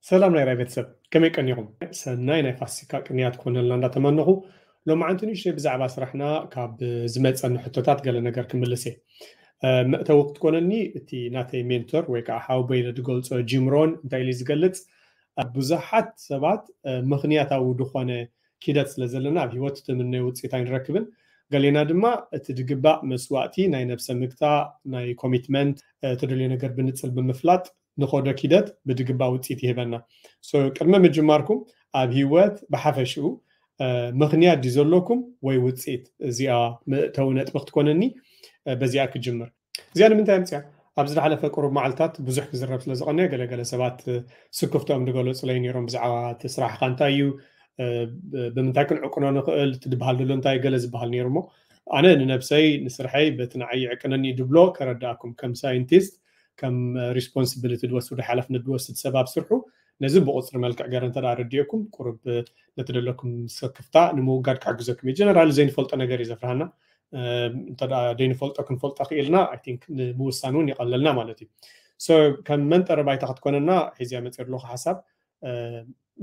ሰላም ናይ ራይ ቤተሰብ፣ ከመይ ቀኒኹም? ሰናይ ናይ ፋሲካ ቅንያት ክኾነልና እንዳተመነኹ፣ ሎማዓንቲ ንእሽተይ ብዛዕባ ስራሕና ካብ ዝመፀኒ ሕቶታት ገለ ነገር ክምልስ እየ። መእተዊ ክትኮነኒ እቲ ናተይ ሜንቶር ወይ ከዓ ሓው በይነ ዝገልፆ ጂምሮን እንታይ ኢሉ ዝገልፅ፣ ብዙሓት ሰባት ምኽንያታዊ ዝኾነ ኪደት ስለ ዘለና ኣብ ህይወት ትምነዮ ውፅኢት ኣይንረክብን። ገሌና ድማ እቲ ድግባእ መስዋእቲ ናይ ነብሰ ምግታ ናይ ኮሚትመንት፣ ተደልዮ ነገር ብንፅል ብምፍላጥ ንኸዶ ኪደት ብድግባ ውፅኢት ይህበና። ቅድሚ ምጅማርኩም ኣብ ህይወት ብሓፈሽኡ ምኽንያት ድዩ ዘለኩም ወይ ውፅኢት? እዚኣ መእተዊ ነጥቢ ክትኮነኒ፣ በዚኣ ክጅምር። እዚኣ ንምንታይ ኣምፅያ? ኣብዚ ዝሓለፈ ቅሩብ መዓልታት ብዙሕ ክዝረብ ስለ ዝቐነየ ገለገለ ሰባት ስክፍቶም ዝገለፁለይ ነይሮም ብዛዕባ እቲ ስራሕካ እንታይ እዩ፣ ብምንታይ ክንዕቅኖ ንኽእል፣ እቲ ዝበሃል ዘሎ እንታይ ገለ ዝበሃል ነይሩ። እሞ ኣነ ንነብሰይ ንስርሐይ በቲ ንዓይ ይዕቅነኒ ድብሎ ከረዳእኩም ከም ሳይንቲስት ከም ሪስፖንሲቢሊቲ ዝወስድ ሓላፍነት ዝወስድ ሰብ ኣብ ስርሑ ነዚ ብቁፅሪ መልክዕ ገረ እንተ ረዲእኩም ቁሩብ ነቲ ዘለኩም ስክፍታ ንምውጋድ ክሕግዘኩም እዩ። ጀነራል ዘይንፈልጦ ነገር እዩ ዘፍርሃና። እንተ ዘይንፈልጦ ክንፈልጦ ክኢልና I think ንምውሳን እውን ይቐለልና ማለት እዩ። ከም መንጠሪ ባይታ ክትኮነና ሒዝያ መፅእ ኣለኹ ሓሳብ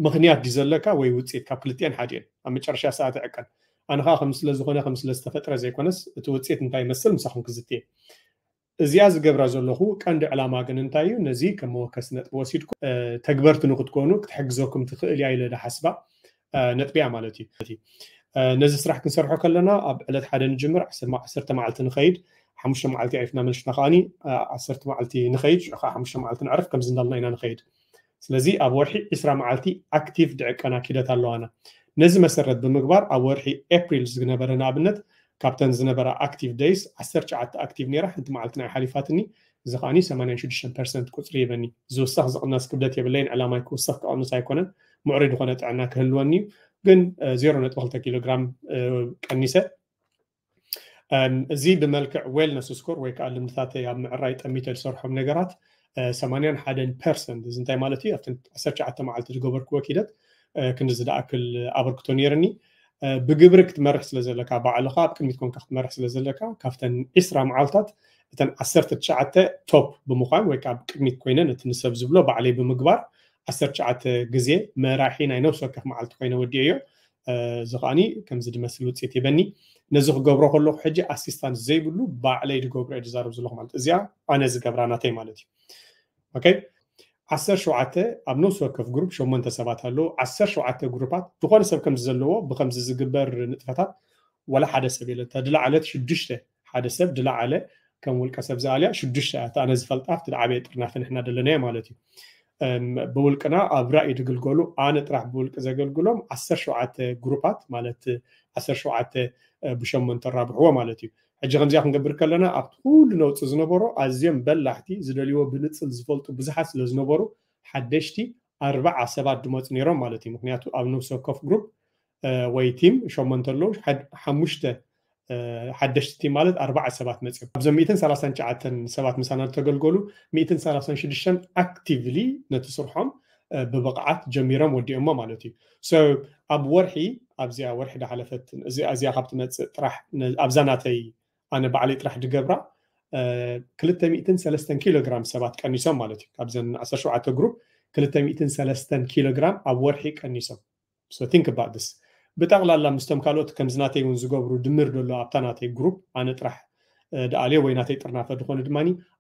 ምኽንያት ድዩ ዘለካ ወይ ውፅኢት? ካብ ክልቲኤን ሓዲኤን ኣብ መጨረሻ ሰዓት ዕቀን። ኣነ ከዓ ከም ስለ ዝኾነ ከም ስለ ዝተፈጥረ ዘይኮነስ እቲ ውፅኢት እንታይ ይመስል ምሳኹም ክዝትየ። እዚኣ ዝገብራ ዘለኹ ቀንዲ ዕላማ ግን እንታይ እዩ? ነዚ ከም መወከሲ ነጥቢ ወሲድኩ ተግበርቲ ንክትኮኑ ክትሕግዘኩም ትኽእል እያ ኢለ ዝሓስባ ነጥቢ እያ ማለት እዩ። ነዚ ስራሕ ክንሰርሖ ከለና ኣብ ዕለት ሓደ ንጅምር፣ ዓሰርተ መዓልቲ ንኸይድ፣ ሓሙሽተ መዓልቲ ዕሪፍና መልሽና ከዓኒ ዓሰርተ መዓልቲ ንኸይድ፣ ሽዑ ከዓ ሓሙሽተ መዓልቲ ንዕርፍ፣ ከምዚ እንዳልና ኢና ንኸይድ። ስለዚ ኣብ ወርሒ ዕስራ መዓልቲ ኣክቲቭ ድዕቀና ኪደት ኣለዋና። ነዚ መሰረት ብምግባር ኣብ ወርሒ ኤፕሪል ዝነበረ ንኣብነት ካብተን ዝነበራ ኣክቲቭ ደይስ ዓሰርተ ትሽዓተ ኣክቲቭ ነይራ፣ ሓንቲ መዓልቲ ናይ ሓሊፋትኒ። እዚ ከዓኒ ሰማንያን ሽዱሽተን ፐርሰንት ቁፅሪ ይበኒ። ዝውሰኽ ዝቕነስ ክብደት የብለይን፣ ዕላማይ ክውሰኽ ክቐንስ ኣይኮነን። ምዕሩይ ዝኾነ ጥዕና ክህልወኒ እዩ። ግን ዜሮ ነጥቢ ክልተ ኪሎ ግራም ቀኒሰ። እዚ ብመልክዕ ዌልነስ ስኮር ወይ ከዓ ልምድታተይ ኣብ ምዕራይ ጠሚተ ዝሰርሖም ነገራት ሰማንያን ሓደን ፐርሰንት። እዚ እንታይ ማለት እዩ? ኣብተን ዓሰርተ ትሽዓተ መዓልቲ ዝገበርክዎ ኪደት ክንዲ ዝደኣክል ኣበርክቶ ነይርኒ። ብግብሪ ክትመርሕ ስለ ዘለካ፣ ባዕልኻ ኣብ ቅድሚት ኮንካ ክትመርሕ ስለ ዘለካ፣ ካብተን ዕስራ መዓልታት እተን ዓሰርተ ትሽዓተ ቶፕ ብምዃን ወይ ከዓ ኣብ ቅድሚት ኮይነ ነቲ ንሰብ ዝብሎ ባዕለይ ብምግባር ዓሰርተ ትሽዓተ ግዜ መራሒ ናይ ነብሲ ወከፍ መዓልቲ ኮይነ ወዲኤዮ። እዚ ከዓኒ ከምዚ ዝመስል ውፅኢት ይበኒ። ነዚ ክገብሮ ከለኹ ሕጂ ኣሲስታንስ ዘይብሉ ባዕለይ ዝገብሮ እየ ዝዛረብ ዘለኹ ማለት እዚኣ ኣነ ዝገብራ ናተይ ማለት እዩ። ኦኬ፣ ዓሰርተ ሸውዓተ ኣብ ነብሲ ወከፍ ግሩፕ ሸሞንተ ሰባት ኣለዉ። ዓሰርተ ሸውዓተ ግሩፓት ዝኾነ ሰብ ከምዚ ዘለዎ ብከምዚ ዝግበር ንጥፈታት ወላ ሓደ ሰብ የለን። ተድላ ዓለት ሽዱሽተ ሓደ ሰብ ድላዓለ ከም ውልቀ ሰብ ዝኣልያ ሽዱሽተ እያ። ኣነ ዝፈልጣ ኣብቲ ዝዓበየ ጥርናፈ ንሕና ደለናዮ ማለት እዩ። ብውልቅና ኣብ ራእይ ድግልገሉ ኣነ ጥራሕ ብውልቂ ዘገልግሎም ዓሰርተ ሸውዓተ ግሩፓት ማለት ዓሰርተ ሸውዓተ ብሸሞንተ ራብሕዎ ማለት እዩ። ሕጂ ከምዚኣ ክንገብር ከለና ኣብቲ ኩሉ ነውፂ ዝነበሮ ኣዝዮም በላሕቲ ዝደልይዎ ብንፅል ዝፈልጡ ብዙሓት ስለ ዝነበሩ ሓደሽቲ ኣርባዓ ሰባት ድመፁ ነይሮም ማለት እዩ። ምክንያቱ ኣብ ነብሲ ወከፍ ግሩፕ ወይ ቲም ሸሞንተ ኣለዉ፣ ሓሙሽተ ሓደሽቲ ቲም ማለት ኣርባዓ ሰባት መፅዮም። ኣብዞም ሚእትን ሰላሳን ትሽዓተን ሰባት ምሳና ዝተገልገሉ ሚእትን ሰላሳን ሽዱሽተን ኣክቲቭሊ ነቲ ስርሖም ብብቕዓት ጀሚሮም ወዲኦሞ ማለት እዩ። ኣብ ወርሒ ኣብዚኣ ወርሒ ዳሓለፈት እዚኣ ካብ ትመፅእ ጥራሕ ኣብዛ ናተይ ኣነ ባዕለይ ጥራሕ ድገብራ ክልተ ሚእትን ሰለስተን ኪሎ ግራም ሰባት ቀኒሶም ማለት እዩ። ካብዘን ዓሰርተ ሸውዓተ ግሩፕ ክልተ ሚእትን ሰለስተን ኪሎ ግራም ኣብ ወርሒ ቀኒሶም። So think about this። ብጠቕላላ ምስቶም ካልኦት ከምዚ ናተይ እውን ዝገብሩ ድምር ደሎ ኣብታ ናተይ ግሩፕ ኣነ ጥራሕ ድኣልዮ ወይ ናተይ ጥርናፈ ዝኾነ ድማ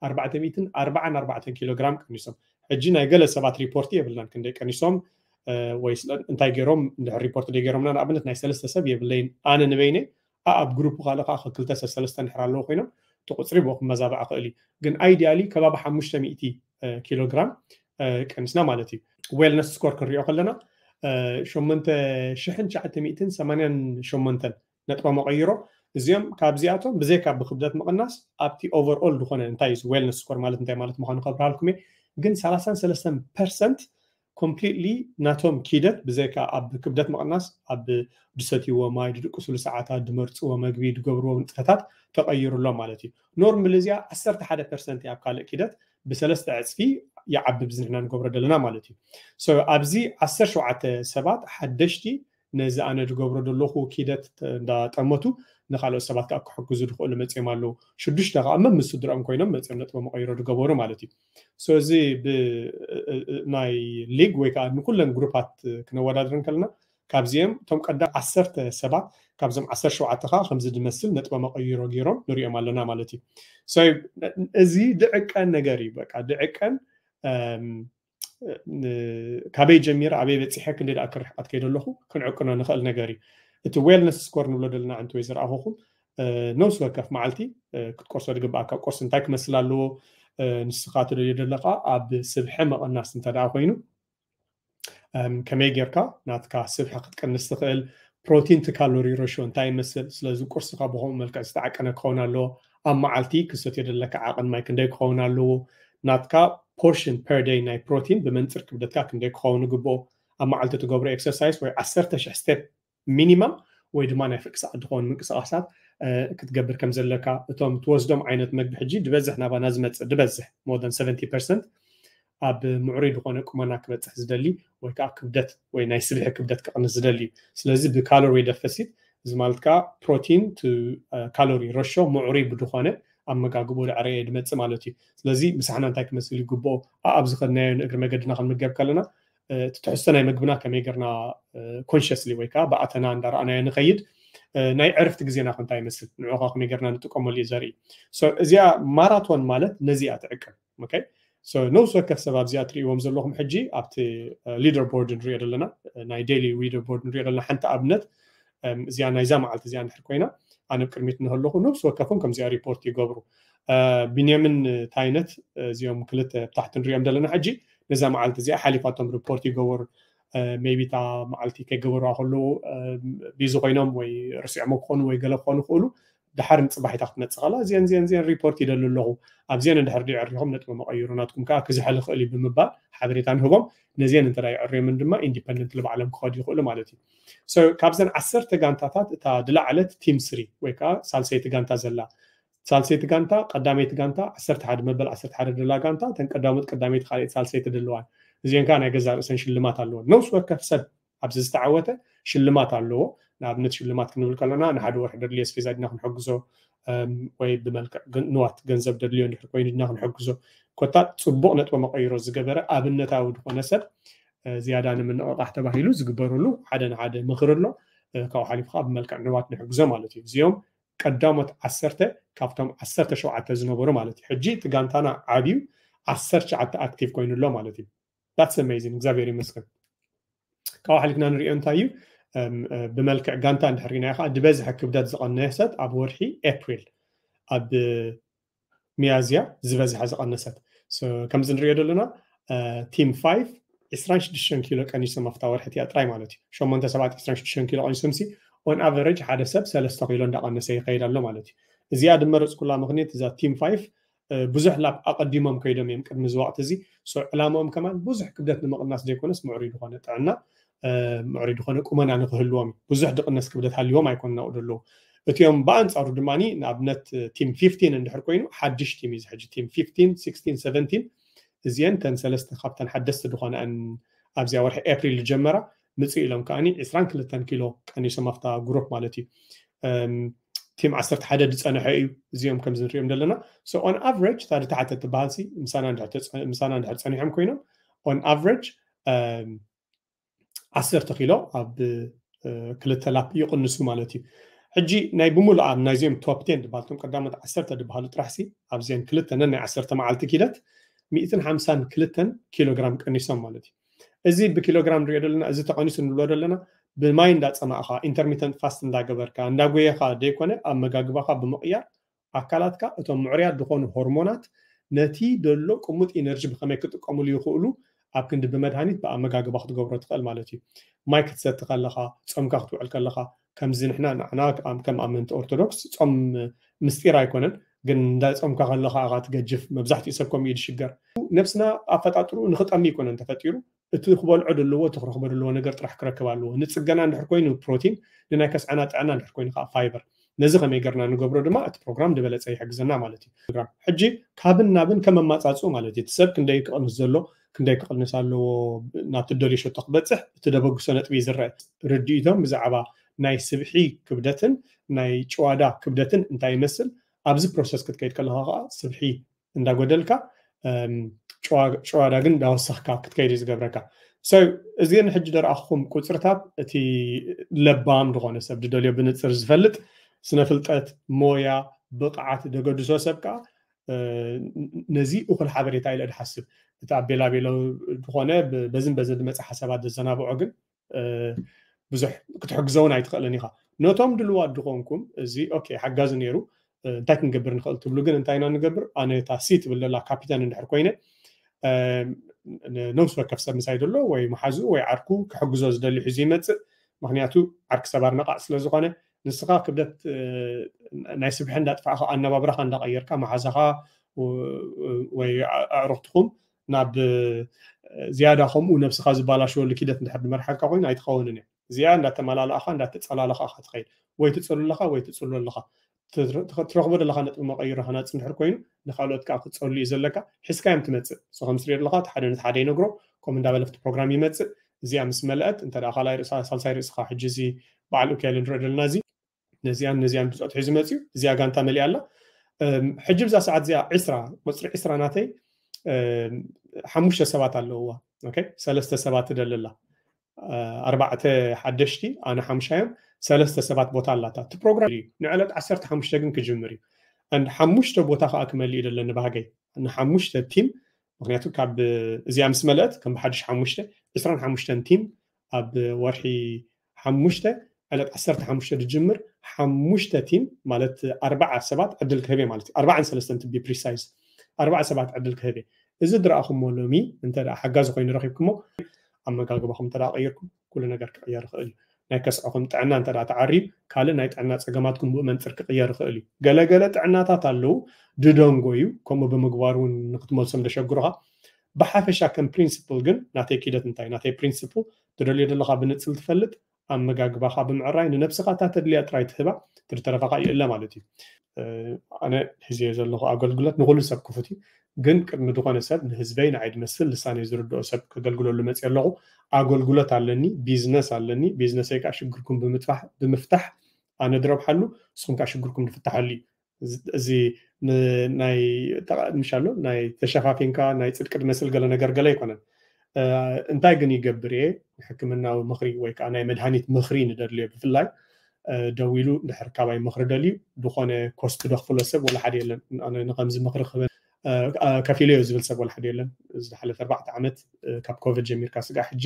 ኣርባዕተ ሚእትን ኣርባዓን ኣርባዕተን ኪሎ ግራም ቀኒሶም። ሕጂ ናይ ገለ ሰባት ሪፖርት የብልናን ክንደይ ቀኒሶም ወይ እንታይ ገይሮም እንድሕር ሪፖርት ደይ ገይሮምና ንኣብነት ናይ ሰለስተ ሰብ የብለይን ኣነ ንበይነይ ኣብ ግሩፕ ካልእ ከዓ ክልተ ሰብ ሰለስተ እንድሕር ኣለዎ ኮይኖም እቲ ቁፅሪ ብኡ ክመዛባዕ ክእል እዩ። ግን ኣይዲያሊ ከባቢ ሓሙሽተ ሚእቲ ኪሎ ግራም ቀኒስና ማለት እዩ። ዌልነስ ስኮር ክንሪኦ ከለና ሸሞንተ ሽሕን ትሽዓተ ሚእትን ሰማንያን ሸሞንተን ነጥባ መቐይሮ እዚኦም ካብዚኣቶም ብዘይካ ብክብደት ምቕናስ ኣብቲ ኦቨርኦል ዝኾነ እንታይ እዩ ዌልነስ ስኮር ማለት እንታይ ማለት ምዃኑ ከብርሃልኩም እየ። ግን ሰላሳን ሰለስተን ፐርሰንት ኮምፕሊትሊ ናቶም ኪደት ብዘይካ ኣብ ክብደት ምቕናስ ኣብ ድሰትይዎ ማይ ድድቅስሉ ሰዓታት ድመርፅዎ መግቢ ድገብርዎ ንጥፈታት ተቐይሩ ኣሎ ማለት እዩ። ኖርማል እዚኣ ዓሰርተ ሓደ ፐርሰንት ኣብ ካልእ ኪደት ብሰለስተ ዕፅፊ ይዓቢ ብዝንሕና ንገብሮ ዘለና ማለት እዩ። ኣብዚ ዓሰርተ ሸውዓተ ሰባት ሓደሽቲ ነዚ ኣነ ዝገብሮ ዘለኹ ኪደት እንዳጠመቱ ንካልኦት ሰባት ከዓ ክሕግዙ ዝኽእሉ መፅኦም ኣለዉ። ሽዱሽተ ከዓ መምስ ስድርኦም ኮይኖም መፅኦም ነጥቦም መቐይሮ ዝገበሩ ማለት እዩ። So እዚ ብ-፣ እ-፣ እ-፣ ናይ ሊግ ወይ ከዓ ንኩለን ግሩፓት ክነወዳድር እንከለና ካብዚኦም እቶም ቀዳም ዓሰርተ ሰባት ካብዞም ዓሰርተ ሸውዓተ ከዓ ከምዚ ዝመስል ነጥቦም መቐይሮ ገይሮም ንሪኦም ኣለና ማለት እዩ። So እዚ ድዕቀን ነገር እዩ። በቃ ድዕቀን፣ እም፣ ን-፣ ካበይ ጀሚረ ኣበይ በፂሐ ክንደይ ደኣ ክርሕቀት ከይደ ኣለኹ ክንዕቅኖ ንኽእል ነገር እዩ። እቲ ዌልነስ ስኮር ንብሎ ዘለና እንተወይ ዝረኣኹኹም፣ እ፣ ነብሲ ወከፍ መዓልቲ፣ እ፣ ክትቆርሶ ዝግብኣካ ቁርሲ እንታይ ክመስል ኣለዎ፣ እ፣ ንስኻ ትደልዮ ዘለኻ ኣብ ስብሒ መቐናስ እንተ ደኣ ኮይኑ፣ እም፣ ከመይ ጌርካ ናትካ ስብሒ ክትቀንስ ትኽእል፣ ፕሮቲን ቲ ካሎሪ ሬሽዮ እንታይ ይመስል፣ ስለዚ ቁርስኻ ብኸምኡ መልክዕ ዝተዓቀነ ክኸውን ኣለዎ፣ ኣብ መዓልቲ ክሰትዮ ዘለካ ዓቐን ማይ ክንደይ ክኸውን ኣለዎ፣ ናትካ ፖርሽን ፐር ደይ ናይ ፕሮቲን ብመንፅር ክብደትካ ክንደይ ክኸውን ይግብኦ፣ ኣብ መዓልቲ ትገብሮ ኤክሰርሳይስ ወይ ዓሰርተ ሽሕ ስቴፕ ሚኒማም ወይ ድማ ናይ ፍርቂ ሰዓት ዝኸውን ምንቅስቃሳት፣ እ፣ ክትገብር ከም ዘለካ፣ እቶም ትወስዶም ዓይነት መግቢ ሕጂ ዝበዝሕ ናባና ዝመፅእ ዝበዝሕ more than seventy percent ኣብ ምዕሩይ ዝኾነ ቁመና ክበፅሕ ዝደሊ ወይ ከዓ ክብደት ወይ ናይ ስብሒ ክብደት ክቕንስ ዝደሊ እዩ። ስለዚ ብካሎሪ ደፈሲት እዚ ማለት ከዓ ፕሮቲን ቱ፣ እ፣ ካሎሪ ረሾ ምዕሩይ ብዝኾነ ኣመጋግቦ ዳዕረየ ድመፅእ ማለት እዩ። ስለዚ ምሳሕና እንታይ ክመስል ይግብኦ፣ ኣብ ዝኸድናዮ ንእግሪ መገድና ክንምገብ ከለና፣ እ፣ እቲ ትሕዝቶ ናይ መግብና ከመይ ጌርና፣ እ፣ ኮንሽስሊ ወይ ከዓ ብኣተና እንዳረኣናዮ ንኸይድ፣ እ፣ ናይ ዕርፍቲ ግዜና ከ እንታይ ይመስል፣ ንዑ ከ ከመይ ጌርና ንጥቀመሉ እዩ ዘርኢ። So እዚኣ ማራቶን ማለት ነዚኣ ትዕቅብ። ኦኬ? So ነብሲ ወከፍ ሰብ ኣብዚኣ ትርእይዎም ዘለኹም ሕጂ ኣብቲ፣ እ፣ ሊደር ቦርድ ንሪኦ ዘለና፣ እ፣ ናይ ዴይሊ ሊደር ቦርድ ንሪኦ ዘለና ሓንቲ ኣብነት፣ እም፣ እዚኣ ናይዛ መዓልቲ እዚኣ እንድሕር ኮይና፣ ኣነ ኣብ ቅድሚት እንከለኹ ነብሲ ወከፎም ከምዚኣ ሪፖርት ይገብሩ። እ፣ ቢንያሚን ታይነት፣ እዚኦም ክልተ ኣብ ታሕቲ ንሪኦም ዘለና ሕጂ ነዛ መዓልቲ እዚኣ ሓሊፋቶም ሪፖርት ይገበሩ። እ፣ ሜይቢ እታ መዓልቲ ከይገበሩዋ ከለዉ፣ እ፣ ቢዚ ኮይኖም ወይ ረሲዖሞ ክኾኑ ወይ ገለ ክኾኑ ይኽእሉ። ድሓር ንፅባሒታ ክትመፅእ ከላ እዚአን፣ እዚአን፣ እዚአን ሪፖርት ይደሊ ኣለኹ። ኣብዚአን እንድሕር ድዩ ዕሪኹም ነጥቢ መቐይሩ ናትኩም ከዓ ክዝሕል ይኽእል እዩ ብምባል ሓበሬታ ንህቦም። ነዚአን እንተ ደኣ ይዕርዮምን ድማ ኢንዲፐንደንትሊ ባዕሎም ክኸዱ ይኽእሉ ማለት እዩ። So ካብዘን ዓሰርተ ጋንታታት እታ ዝለዓለት ቲም ስሪ ወይ ከዓ ሳልሰይቲ ጋንታ ዘላ። ሳልሰይቲ ጋንታ፣ ቀዳመይቲ ጋንታ ዓሰርተ ሓደ መበል ዓሰርተ ሓደ ደላ ጋንታ፣ እተን ቀዳሞት ቀዳመይቲ ካልኣይቲ ሳልሰይቲ ደለዋን። እዚአን ከዓ ናይ ገዛእ ርእሰን ሽልማት ኣለወን። ነብሲ ወከፍ ሰብ ኣብዚ ዝተዓወተ ሽልማት ኣለዎ። ንኣብነት ሽልማት ክንብል ከለና ንሓደ ወርሒ ደድልዮ ኣስቤዛ ድና ክንሕግዞ፣ እም፣ ወይ ብመልክዕ ገን-፣ ንዋት ገንዘብ ደድልዮ እንድሕር ኮይኑ ድና ክንሕግዞ። ኮታ ፅቡቕ ነጥቢ መቐይሮ ዝገበረ ኣብነታዊ ዝኾነ ሰብ፣ እ፣ ዝያዳ ንምንቕቓሕ ተባሂሉ ዝግበረሉ ሓደ ንሓደ ምኽሪ ኣሎ። እ፣ ካብኡ ሓሊፉ ከዓ ብመልክዕ ንዋት ንሕግዞ ማለት እዩ። እዚኦም ቀዳሞት ዓሰርተ ካብቶም ዓሰርተ ሸውዓተ ዝነበሩ ማለት እዩ። ሕጂ እቲ ጋንታና ዓብዩ ዓሰርተ ትሽዓተ ኣክቲቭ ኮይኑ ኣሎ ማለት እዩ። That's amazing። እግዚኣብሔር ይመስገን። ካብኡ ሓሊፍና ንሪኦ እንታይ እዩ? እም፣ እ፣ ብመልክዕ ጋንታ እንድሕር ሪናዮ ከዓ ዝበዝሐ ክብደት ዝቐነሰት ኣብ ወርሒ ኤፕሪል፣ ኣብ ሚያዝያ ዝበዝሐ ዝቐነሰት። So ከምዚ ንሪኦ ዘለና፣ እ፣ ቲም ፋይቭ ዕስራን ሽዱሽተን ኪሎ ቀኒሶም ኣብታ ወርሒ እቲኣ ጥራይ ማለት እዩ። ሸሞንተ ሰባት ዕስራን ሽዱሽተን ኪሎ ቀኒሶም ሲ ኦን ኣቨሬጅ ሓደ ሰብ ሰለስተ ኪሎ እንዳቐነሰ ይኸይድ ኣሎ ማለት እዩ። እዚኣ ድመረፅኩላ ምኽንያት እዛ ቲም ፋይቭ፣ እ፣ ብዙሕ ላፕ ኣቐዲሞም ከይዶም እዮም ቅድሚ እዚ ወቕቲ እዚ። So ዕላምኦም ከማን ብዙሕ ክብደት ንምቕናስ ዘይኮነስ ምዕሩይ ዝኾነ ጥዕና፣ እ፣ ምዕሩይ ዝኾነ ቁመና ንክህልዎም እዩ። ብዙሕ ድቕነስ ክብደት ሃልዎም ኣይኮኑን ኣብኡ ዘለዉ። እቲኦም ብኣንፃሩ ድማ ንኣብነት ቲም ፊፍቲን እንድሕር ኮይኑ ሓድሽ ቲም እዩ። እዚ ሕጂ ቲም ፊፍቲን፣ ሲክስቲን፣ ሰቨንቲን እዚአን ተን ሰለስተ ካብተን ሓደስቲ ዝኾነአን ኣብዚኣ ወርሒ ኤፕሪል ዝጀመራ ምፅእ ኢሎም ከዓኒ ዕስራን ክልተን ኪሎ ቀኒሶም ኣብታ ግሩፕ ማለት እዩ። እም፣ ቲም ዓሰርተ ሓደ ዝፀንሐ እዩ እዚኦም ከምዚ ንሪኦም ዘለና። So on average እታ ድታሕተ ትበሃል ሲ ምሳና እንድሕር ተፀ-፣ ምሳና እንድሕር ፀኒሖም ኮይኖም on average፣ እም፣ ዓሰርተ ኪሎ ኣብ፣ እ፣ ክልተ ላፕ ይቕንሱ ማለት እዩ። ሕጂ ናይ ብምሉእ ኣብ ናይዚኦም ቶፕ ቴን ዝበሃሉ እቶም ቀዳሞት ዓሰርተ ዝበሃሉ ጥራሕ ሲ ኣብዚአን ክልተ ነናይ ዓሰርተ መዓልቲ ኪደት ሚእትን ሓምሳን ክልተን ኪሎ ግራም ቀኒሶም ማለት እዩ። እዚ ብኪሎ ግራም ንሪኦ ዘለና፣ እዚ ተቐኒሱ ንብሎ ዘለና ብማይ እንዳፀማእኻ፣ ኢንተርሚተንት ፋስት እንዳገበርካ፣ እንዳጎየኻ ዘይኮነ ኣብ መጋግባኻ ብምቕያር ኣካላትካ እቶም ምዕሩያት ዝኾኑ ሆርሞናት ነቲ ደሎ ቅሙጥ ኢነርጂ ብኸመይ ክጥቀሙሉ ይኽእሉ ኣብ ክንዲ ብመድሃኒት ብኣመጋግባ ክትገብሮ ትኽእል ማለት እዩ። ማይ ክትሰቲ ከለኻ፣ ጾምካ ክትውዕል ከለኻ፣ ከምዚ ንሕና ንዓና ከም፣ ከም ኣመንቲ ኦርቶዶክስ ጾም ምስጢር ኣይኮነን፣ ግን እንዳ ጾምካ ከለኻ ኢኻ ትገጅፍ። መብዛሕትኡ ሰብ ከምኡ እዩ ዝሽገር። ነብስና ኣፈጣጥርኡ ንኽጠሚ ኣይኮነን ተፈጢሩ፣ እቲ ክበልዖ ዘለዎ፣ እቲ ክረኽቦ ዘለዎ ነገር ጥራሕ ክረክብ ኣለዎ። ንጽገና እንድሕር ኮይኑ ፕሮቲን፣ ንናይ ከስዐና ጥዕና እንድሕር ኮይኑ ከዓ ፋይበር። ነዚ ከመይ ገርና ንገብሮ ድማ እቲ ፕሮግራም ዝበለጸ ይሕግዘና ማለት እዩ። ፕሮግራም ሕጂ ካብን ናብን ከም ኣማጻጽኡ ማለት እዩ። እቲ ሰብ ክንደይ ክቕንስ ዘሎ፣ ክንደይ ክቕንስ ኣለዎ፣ ናብቲ ደልዮ ሸቶ ክበጽሕ እቲ ደበግሶ ነጥቢ እዩ ዝረአ። ርድኢቶም ብዛዕባ ናይ ስብሒ ክብደትን ናይ ጭዋዳ ክብደትን እንታይ ይመስል፣ ኣብዚ ፕሮሰስ ክትከይድ ከለካ ከዓ ስብሒ እንዳጎደልካ ጭዋዳ ግን እንዳወሰኽካ ክትከይድ እዩ ዝገብረካ። እዚን ሕጂ ደረኣኹም ቁፅርታት እቲ ለባም ዝኾነ ሰብ ዝደልዮ ብንፅር ዝፈልጥ ስነ ፍልጠት፣ ሞያ፣ ብቕዓት ደገድሶ ሰብ ከዓ ነዚ እኹል ሓበሬታ ኢለ ድሓስብ። እቲ ኣቤላቤሎ ዝኾነ በዝን በዝን ዝመፀ ሓሳባት ዘዘናብዖ ግን ብዙሕ ክትሕግዞ እውን ኣይትኽእልን ኢኻ። ነቶም ድልዋት ድኾንኩም እዚ ኦኬ ሓጋዚ ነይሩ እንታይ ክንገብር ንኽእል ትብሉ ግን እንታይ ኢና ንገብር? ኣነ እታ ሲ ትብል ዘላ ካፒታን እንድሕር ኮይነ ነብሲ ወከፍ ሰብ ምሳይ ዘሎ ወይ መሓዝኡ ወይ ዓርኩ ክሕግዞ ዝደሊ ሒዙ ይመፅእ። ምክንያቱ ዓርኪ ሰባር ነቓዕ ስለ ዝኾነ ንስኻ ክብደት ናይ ስብሒ እንዳጥፋእኻ ኣነባብራኻ እንዳቐየርካ መሓዛኻ ወይ ኣዕሩኽትኹም ናብ ዝያዳ ከምኡ ነብስኻ ዝባላሸወሉ ኪደት እንድሕር ድመርሓካ ኮይኑ ኣይትኸውንን እየ። እዚኣ እንዳተመላለኣኻ እንዳተፀላለኻ ኢኻ ትኸይድ። ወይ ትፀሉ ኣለኻ ወይ ትፅሉ ኣለኻ። ትረኽቦ ዘለኻ ነጥቢ መቐይሮ ሃናፂ እንድሕር ኮይኑ ንካልኦት ከዓ ክትፀሉ እዩ ዘለካ። ሒዝካ እዮም ትመፅእ። ሰኸም ስሪር ኣለኻ እቲ ሓደ ነቲ ሓደ ይነግሮ ከምኡ እንዳበለ ኣብቲ ፕሮግራም ይመፅእ። እዚኣ ምስ መለአት እንተ ካልኣይ ርእሳ ሳልሳይ ርእስኻ ሕጂ እዚ በዓል ኡክያል ንሪኦ ዘለና እዚ ነዚኣን ነዚኣን ብፆት ሒዙ መፅዩ። እዚኣ ጋንታ መሊኣ ኣላ። ሕጂ ብዛ ሰዓት እዚኣ ዕስራ ቁፅሪ ዕስራ ናተይ ሓሙሽተ ሰባት ኣለውዋ። ሰለስተ ሰባት ትደልላ ኣርባዕተ ሓደሽቲ ኣነ ሓሙሻዮም ሰለስተ ሰባት ቦታ ኣላታ እቲ ፕሮግራም እዩ። ንዕለት ዓሰርተ ሓሙሽተ ግን ክጅምር እዩ። ሓሙሽተ ቦታ ከዓ ክመልእ እዩ ደለኒ ባህገይ ንሓሙሽተ ቲም። ምክንያቱ ካብ እዚኣ ምስ መለአት ከም ብሓድሽ ሓሙሽተ ዕስራን ሓሙሽተን ቲም ኣብ ወርሒ ሓሙሽተ ዕለት ዓሰርተ ሓሙሽተ ዝጅምር ሓሙሽተ ቲም ማለት ኣርባዓ ሰባት ዕድል ክህብ ማለት እዩ። ኣርባዓን ሰለስተን ትቢ ፕሪሳይዝ ኣርባዓ ሰባት ዕድል ክህብ። እዚ ዝረኣኹሞ ሎሚ እንተ ሓጋዚ ኮይኑ ረኪብኩሞ ኣመጋግባኹም እንተ ቀይርኩም ኩሉ ነገር ክቅየር ይኽእል እዩ። ናይ ከስዕኹም ጥዕና እንተ ተዓርዩ ካልእ ናይ ጥዕና ፀገማትኩም ብኡ መንፅር ክቅየር ይኽእል እዩ። ገለገለ ጥዕናታት ኣለዉ ድደንጎዩ ከምኡ ብምግባር እውን ንክትመልሶም ደሸግሩኻ። ብሓፈሻ ከም ፕሪንስፕል ግን ናተይ ኪደት እንታይ ናተይ ፕሪንስፕል ትደልዮ ዘለካ ብንፅል ትፈልጥ ኣመጋግባኻ ብምዕራይ ንነብስኻ እታ ተድልያ ጥራይ ትህባ ትርተረፋኻ ይእለ ማለት እዩ። ኣነ ሒዝዮ ዘለኹ ኣገልግሎት ንኩሉ ሰብ ክፉት እዩ። ግን ቅድሚ ዝኾነ ሰብ ንህዝበይ ንዓይ ድመስል ልሳነይ ዝርድኦ ሰብ ከገልግለሉ መፅእ ኣለኹ። ኣገልግሎት ኣለኒ፣ ቢዝነስ ኣለኒ። ቢዝነሰይ ከዓ ሽግርኩም ብምፍታሕ ኣነ ድረብሓሉ፣ ንስኹም ከዓ ሽግርኩም ድፍታሓሉ እዩ። እዚ ናይ ምሻሎ ናይ ተሸፋፊንካ ናይ ፅድቂ ድመስል ገለ ነገር ገለ ኣይኮነን። እንታይ ግን ይገብር እየ ንሕክምናዊ ምኽሪ ወይ ከዓ ናይ መድሃኒት ምኽሪ ንደድልዮ ብፍላይ ደዊሉ ድሕር ካባይ ምኽሪ ደልዩ ዝኾነ ኮስት ደኽፍሎ ሰብ ወላ ሓደ የለን። ንከምዚ ምኽሪ ክበ ከፊለዮ ዝብል ሰብ ወላ ሓደ የለን። ዝሓለፈ ኣርባዕተ ዓመት ካብ ኮቪድ ጀሚርካ ስጋዕ ሕጂ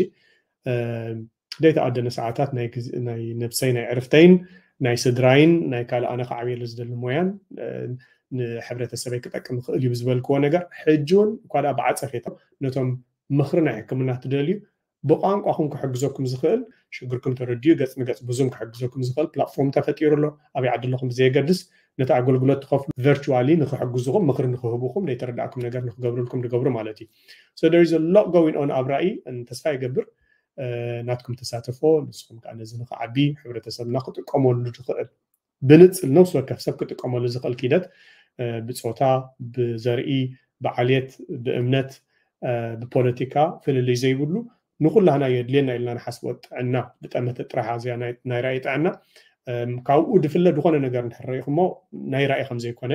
ዘይተኣደነ ሰዓታት ናይ ነብሰይ ናይ ዕርፍተይን ናይ ስድራይን ናይ ካልእ ኣነ ክዓብየሉ ዝደሊ ሞያን ንሕብረተሰበይ ክጠቅም ይኽእል እዩ ብዝበልክዎ ነገር ሕጂ እውን እኳ ብዓፀፌታ ነቶም ምኽሪ ናይ ሕክምና ትደልዩ ብቋንቋኹም ክሕግዘኩም ዝኽእል ሽግርኩም ተረድዩ ገፅ ንገፅ ብዙም ክሕግዘኩም ዝኽእል ፕላትፎርም ተፈጢሩ ኣሎ። ኣበይ ዓዲ ኣለኹም ብዘየገድስ ነቲ ኣገልግሎት ትኸፍሉ ቨርቹዋሊ ንክሕግዝኹም ምኽሪ ንክህብኹም ዘይተረዳእኩም ነገር ንክገብርልኩም ዝገብሩ ማለት እዩ። So there is a lot going on ኣብ ራእይ ተስፋ ይገብር ናትኩም ተሳተፎ ንስኹም ከዓ ነዚ ንክዓቢ ሕብረተሰብና ክጥቀመሉ ዝኽእል ብንፅል ነብሲ ወከፍ ሰብ ክጥቀመሉ ዝኽእል ኪደት ብፆታ ብዘርኢ ብዓልየት ብእምነት ብፖለቲካ ፍልልይ ዘይብሉ ንኩላህና የድልየና ኢልና ንሓስቦ ጥዕና ብጠመተ ጥራሕ እዚኣ ናይ ራእይ ጥዕና ካብኡ ድፍለ ዝኾነ ነገር እንድሕር ርኢኹሞ ናይ ራእይ ከምዘይኮነ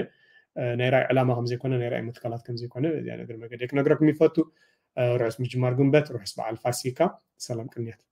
ናይ ራእይ ዕላማ ከምዘይኮነ ናይ ራእይ መትከላት ከምዘይኮነ እዚኣ ነገር መገደ ክነግረኩም ይፈቱ። ርሑስ ምጅማር ግንበት፣ ርሑስ በዓል ፋሲካ፣ ሰላም ቅንያት።